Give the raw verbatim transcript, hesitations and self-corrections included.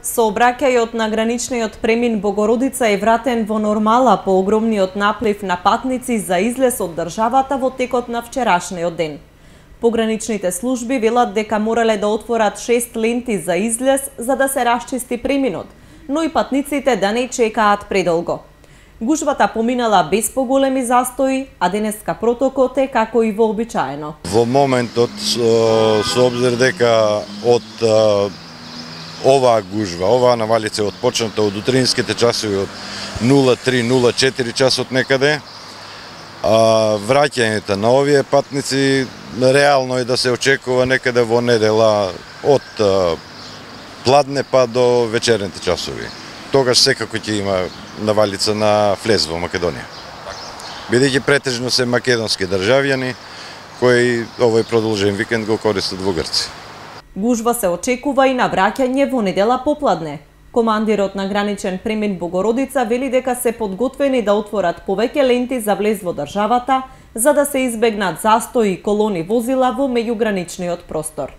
Сообраќајот на граничниот премин Богородица е вратен во нормала по огромниот наплив на патници за излез од државата во текот на вчерашниот ден. Пограничните служби велат дека морале да отворат шест ленти за излез за да се расчисти преминот, но и патниците да не чекаат предолго. Гужвата поминала без поголеми застои, а денеска протокот е како и вообичаено. Во моментот, со обзир дека од оваа гужва, оваа навалица е отпочната од утринските часови од нула три нула четири часот некаде, а враќањето на овие патници реално е да се очекува некаде во недела од пладне па до вечерните часови. Тогаш секако ќе има навалица на влез во Македонија. Бидејќи претежно се македонски државјани кои овој продолжен викенд го користат во Грција. Гужва се очекува и на враќање во недела попладне. Командирот на граничен премин Богородица вели дека се подготвени да отворат повеќе ленти за влез во државата, за да се избегнат застои и колони возила во меѓуграничниот простор.